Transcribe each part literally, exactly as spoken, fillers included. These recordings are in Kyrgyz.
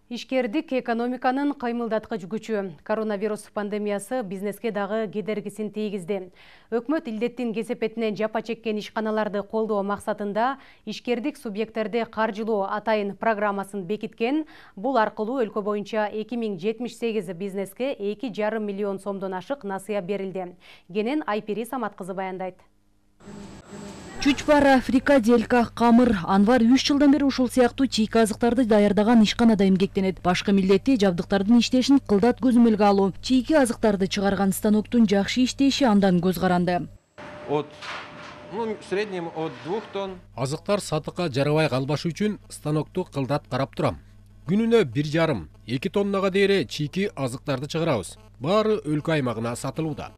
Ишкердик экономиканын кыймылдаткыч күчү. Коронавирус пандемиясы бизнеске дагы кедергисин тийгизди. Өкмөт илдеттин кесепетинен жапа чеккен ишканаларды колдоо максатында ишкердик субъекттерди каржылоо атайын программасын бекиткен. Бул аркылуу өлкө боюнча эки миң жетимиш сегиз бизнеске эки жарым миллион сомдон ашык насыя берилди. Кенен Айпери Самат кызы баяндайт. Чучпара, фрикаделька, камыр, анвар үч жылдан бери ушул сыяктуу чийки азыктарды даярдаган ишканада эмгектенет. Башкы милдети жабдыктардын иштешин кылдат көзөмөлгө алуу. Чийки азыктарды чыгарган станоктун жакшы иштеши андан көз каранды. От ну, в среднем от двух тонн. Азыктар сатыкка жарабай калбаш үчүн станокту кылдат карап турам. Күнүнө бир жарым, эки тоннага дейре чийки азыктарды чыгарабыз. Баары өлкө аймагына сатылууда.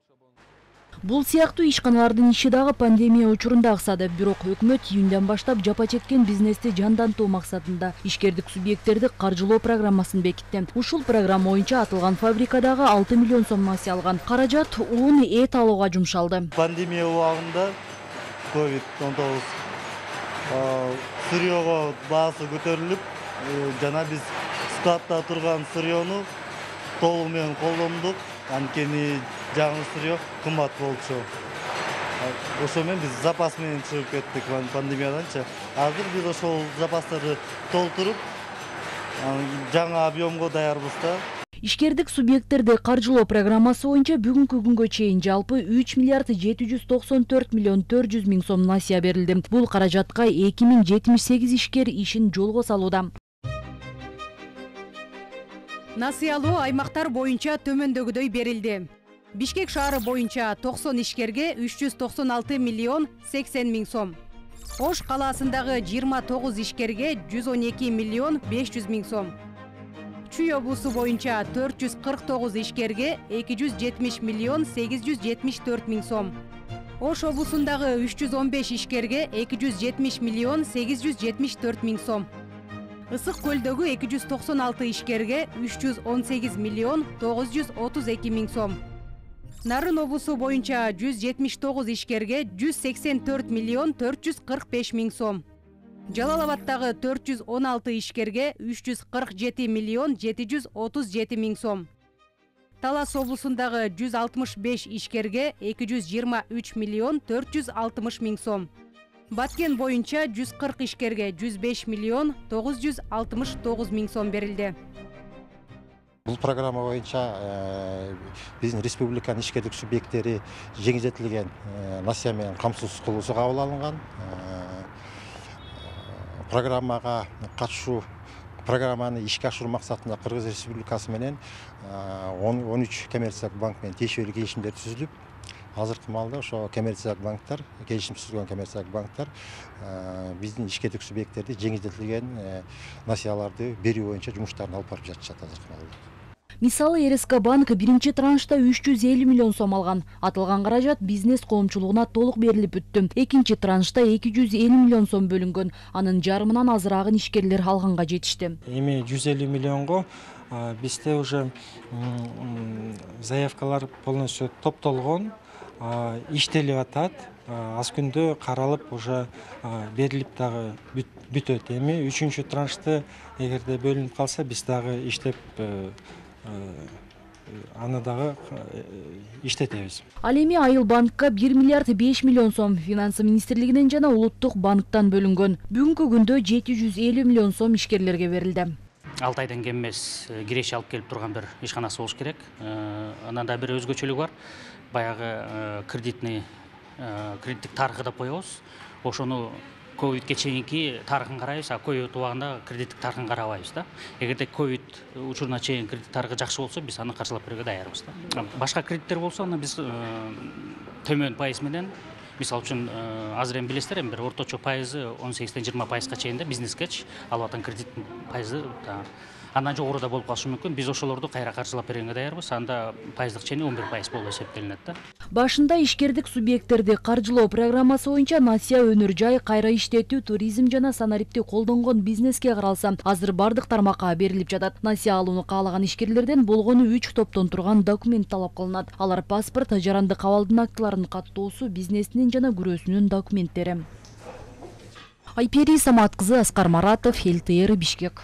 Бул сыяктуу ишканалардын иши дагы пандемия учурунда аксады. Бирок өкмөт июндан баштап жапа чеккен бизнести жандантуу максатында ишкердик субъекттерди каржылоо программасын бекитти. Ушул программа боюнча атылган фабрикадагы алты миллион сом насыя алган. Каражат ун, эт алууга жумшалды. Пандемия убагында ковид он тогуз сырьёго баасы көтөрүлүп, жана биз складта турган сырьёну толугу менен колдондук. Анткени жаңы сырьё кымбат болчу. Ошо менен биз запас менен чыгып кеттик пандемияданчы. Азыр биз ошол запастарды толтуруп, жаңы объемго даярбыз да. Ишкердик субъекттерди каржылоо программасы боюнча бүгүнкү күнгө чейин жалпы үч миллиард жети жүз токсон төрт миллион төрт жүз миң сом насыя берилди. Бул каражатка эки миң жетимиш сегиз ишкер ишин жолго салууда. Насыялуу аймактар боюнча төмөндөгүдөй берилди. Бишкек шаары боюнча токсон ишкерге үч жүз токсон алты миллион сексен миң сом. Ош калаасындагы жыйырма тогуз ишкерге жүз он эки миллион беш жүз миң сом. Чүй облусу боюнча төрт жүз кырк тогуз ишкерге эки жүз жетимиш миллион сегиз жүз жетимиш төрт миң сом. Ош облусундагы үч жүз он беш ишкерге эки жүз жетимиш миллион сегиз жүз жетимиш төрт миң сом. Ысык көлдөгү эки жүз токсон алты ишкерге үч жүз он сегиз миллион тогуз жүз отуз эки миң сом. Нарын облусу боюнча жүз жетимиш тогуз ишкерге жүз сексен төрт миллион төрт жүз кырк беш миң сом. Жалал Абадтагы төрт жүз он алты ишкерге үч жүз кырк жети миллион жети жүз отуз жети миң сом. Талас облусундагы жүз алтымыш беш ишкерге эки жүз жыйырма үч миллион төрт жүз алтымыш миң сом. Баткен боюнча жүз кырк ишкерге жүз беш миллион тогуз жүз алтымыш тогуз миң сом берилди. Бул программа боюнча биздин республиканын ишкердик субъекттери жеңилдетилген насыя менен камсыз кылуусу кабыл алынган. Программага катышуу программаны ишке ашыруу максатында Кыргыз Республикасы менен он үч коммерциялык банк менен тиешелүү келишимдер түзүлүп, азыркы маалда ошо коммерциялык банктар, келишим түзүлгөн коммерциялык банктар биздин ишкердик субъекттерди жеңилдетилген насыяларды берүү боюнча жумуштарын алып барып жатышат азыркы маалда. Мисалы, эр эс ка банк биринчи траншта үч жүз элүү миллион сом алган. Атылган каражат бизнес коомчулугуна толук берилип бүттү. Экинчи траншта эки жүз элүү миллион сом бөлүнгөн. Анын жарымынан азыраагын ишкерлер алганга жетишти. Эми жүз элүү миллионго бизде уже заявкалар полностью топтолгон, иштелип атат. Аз күндө каралып уже берилип дагы бүтөт. Эми үчүнчү траншты эгерде бөлүнүп калса, биз дагы иштеп аны дагы иштетебиз. Ал эми Айыл банкка бир миллиард беш миллион сом Финансы министрлигинен жана Улуттук банктан бөлүнгөн. Бүгүнкү күндө жети жүз элүү миллион сом ишкерлерге берилди. алты айдан кем эмес киреше алып келип турган бир ишканасы болуш керек. Анан да бир өзгөчөлүгү бар. Баягы кредитный кредиттик тарыхы деп коебуз. Ошону ковидке чейинки тарыхын карайбыз, а ковид убагында кредиттик тарыхын карабайбыз да. Эгерде ковид учуруна чейин кредит тарыхы жакшы болсо, биз аны каржылап берүүгө даярбыз да. Башка кредиттер болсо, аны биз төмөн пайыз менен, мисалы үчүн азыр эми билесиздер, эми бир орточо пайызы он сегизден жыйырма пайызга чейин да бизнескечи алып atan кредиттин пайызы андан жогору да болуп калышы мүмкүн. Биз ошолорду кайра каржылап бергенге даярбыз. Анда пайыздык чени он бир пайыз болуп эсептелинет да. Башында ишкердик субъекттерди каржылоо программасы боюнча насыя өнөр жай, кайра иштетүү, туризм жана санариптик колдонгон бизнеске каралса, азыр бардык тармакка берилип жатат. Насыя алууну каалаган ишкерлерден болгону үч топтон турган документ талап кылынат. Алар паспорт, жарандык абалдын актыларын каттоосу, бизнесинин жана күрөөсүнүн документтери. Айпери Самат кызы, Аскар Маратов, Эл Тэ Эр, Бишкек.